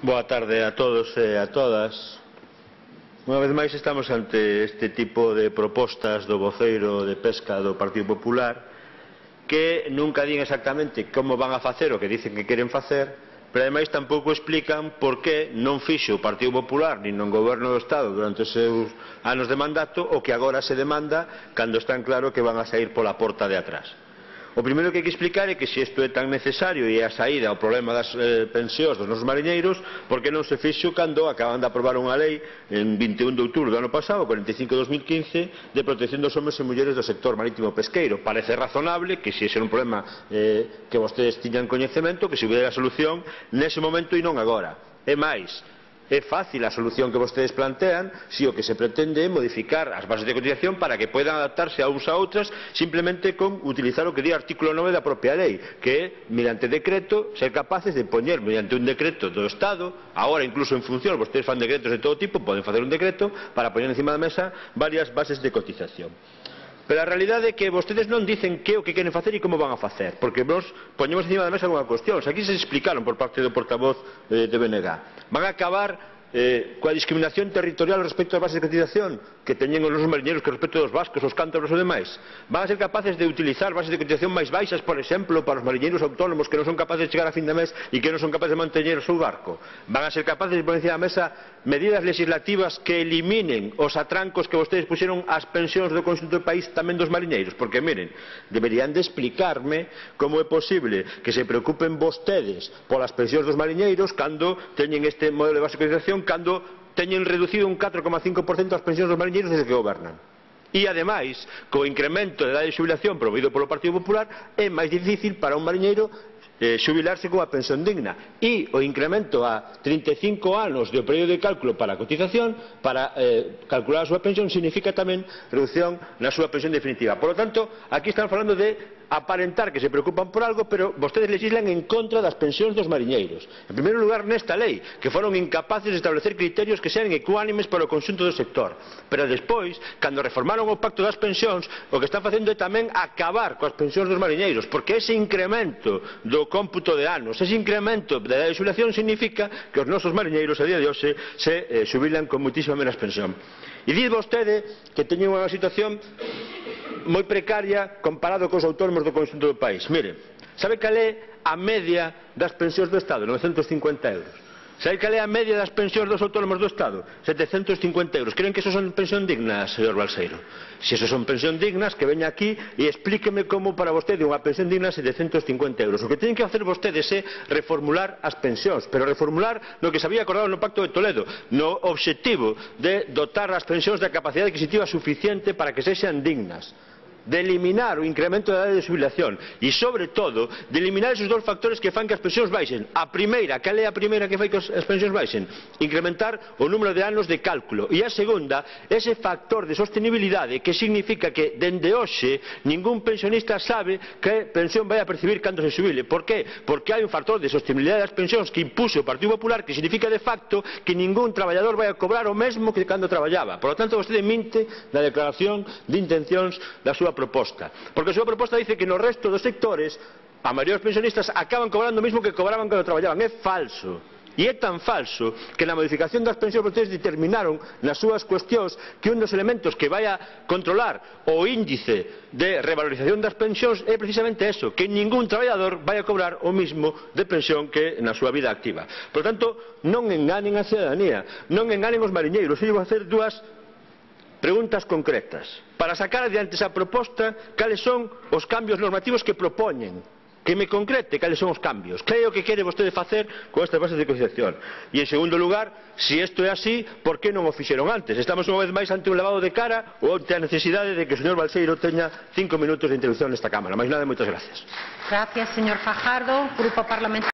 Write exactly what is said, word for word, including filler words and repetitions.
Boa tarde a todos e a todas. Unha vez máis estamos ante este tipo de propostas do voceiro de pesca do Partido Popular que nunca din exactamente como van a facer o que dicen que queren facer, pero ademais tampouco explican por que non fixo o Partido Popular nin no goberno do Estado durante os seus anos de mandato o que agora se demanda cando están claro que van a saír pola porta de atrás. O primeiro que hai que explicar é que se isto é tan necesario e a saída ao problema das eh, pensións dos nosos mariñeiros, por que non se fixo cando acaban de aprobar unha lei en vinte e un de outubro do ano pasado, cuarenta e cinco de dos mil quince, de protección dos homes e mulleres do sector marítimo pesqueiro. Parece razonable que se ese era un problema eh, que vostedes tiñan coñecemento, que se hubiera a solución nese momento e non agora. É máis, é fácil a solución que vostedes plantean se o que se pretende é modificar as bases de cotización para que poidan adaptarse a uns a outras simplemente con utilizar o que di o artículo nove da propia lei, que é, mediante decreto, ser capaces de poñer mediante un decreto do Estado, agora incluso en función, vostedes fan decretos de todo tipo, poden facer un decreto para poñer encima da mesa varias bases de cotización. Pero a realidade é que vostedes non dicen que o que queren facer e como van a facer, porque nos poñemos encima da mesa unha cuestión. Aquí se explicaron por parte do portavoz eh, de B N G. Van a acabar eh, coa discriminación territorial respecto ás bases de cotización que teñen os nosos mariñeiros que respecto dos vascos, os cántabros e demais. Van a ser capaces de utilizar bases de cotización máis baixas, por exemplo, para os mariñeiros autónomos que non son capaces de chegar a fin de mes e que non son capaces de manteñer o seu barco. Van a ser capaces de poner encima da mesa medidas legislativas que eliminen os atrancos que vostedes puxeron ás pensións do conxunto do país tamén dos mariñeiros, porque, miren, deberían de explicarme como é posible que se preocupen vostedes polas pensións dos mariñeiros cando teñen este modelo de base de cotización, cando teñen reducido un catro coma cinco por cento as pensións dos mariñeiros desde que gobernan. E, ademais, co incremento de idade de xubilación promovido polo Partido Popular, é máis difícil para un mariñeiro eh, xubilarse coa pensión digna. E o incremento a trinta e cinco anos do período de cálculo para a cotización, para eh, calcular a súa pensión, significa tamén reducción na súa pensión definitiva. Por lo tanto, aquí están falando de aparentar que se preocupan por algo, pero vostedes legislan en contra das pensións dos mariñeiros. En primeiro lugar, nesta lei, que foron incapaces de establecer criterios que sean ecuánimes para o conxunto do sector. Pero despois, cando reformaron o pacto das pensións, o que están facendo é tamén acabar coas pensións dos mariñeiros, porque ese incremento do cómputo de anos, ese incremento da idade de xubilación significa que os nosos mariñeiros a día de hoxe se eh, xubilan con muitísima menos pensión. E diz vostede que teñen unha situación moi precaria comparado cos autónomos do conxunto do país. Mire, sabe cal é a media das pensións do Estado? novecentos e cincuenta euros. Sabe cal é a media das pensións dos autónomos do Estado? setecentos e cincuenta euros. Creen que eso son pensión dignas, señor Balseiro? Se eso son pensión dignas, que veña aquí e explíqueme como para vostede unha pensión digna é setecentos e cincuenta euros. O que teñen que facer vostedes é reformular as pensións, pero reformular no que se había acordado no Pacto de Toledo, no obxectivo de dotar as pensións da capacidade adquisitiva suficiente para que sexan dignas, de eliminar o incremento da idade de xubilación e, sobre todo, de eliminar esos dous factores que fan que as pensións baixen. A primeira, cal é a primeira que fai que as pensións baixen? Incrementar o número de anos de cálculo. E a segunda, ese factor de sostenibilidade que significa que, dende hoxe, ningún pensionista sabe que pensión vai a percibir cando se xubile. Por qué? Porque hai un factor de sostenibilidade das pensións que impuxo o Partido Popular que significa, de facto, que ningún traballador vai a cobrar o mesmo que cando traballaba. Por lo tanto, vostede minte na declaración de intencións da súa proposta, porque a súa proposta dice que no resto dos sectores a maioría dos pensionistas acaban cobrando o mesmo que cobraban cando traballaban. É falso. E é tan falso que na modificación das pensións vostedes determinaron nas súas cuestións que un dos elementos que vai a controlar o índice de revalorización das pensións é precisamente eso, que ningún traballador vai a cobrar o mismo de pensión que na súa vida activa. Por tanto, non enganen a cidadanía, non enganen os mariñeiros. Eu vou facer dúas preguntas concretas para sacar adiante esa proposta. Cales son os cambios normativos que propoñen? Que me concrete cales son os cambios. Que é o que quere vostede facer con estas bases de cotización? E, en segundo lugar, se isto é así, por que non o fixeron antes? Estamos unha vez máis ante un lavado de cara ou ante a necesidade de que o señor Balseiro teña cinco minutos de introducción nesta Cámara. Mais nada, moitas gracias. Gracias, señor Fajardo. Grupo Parlamentario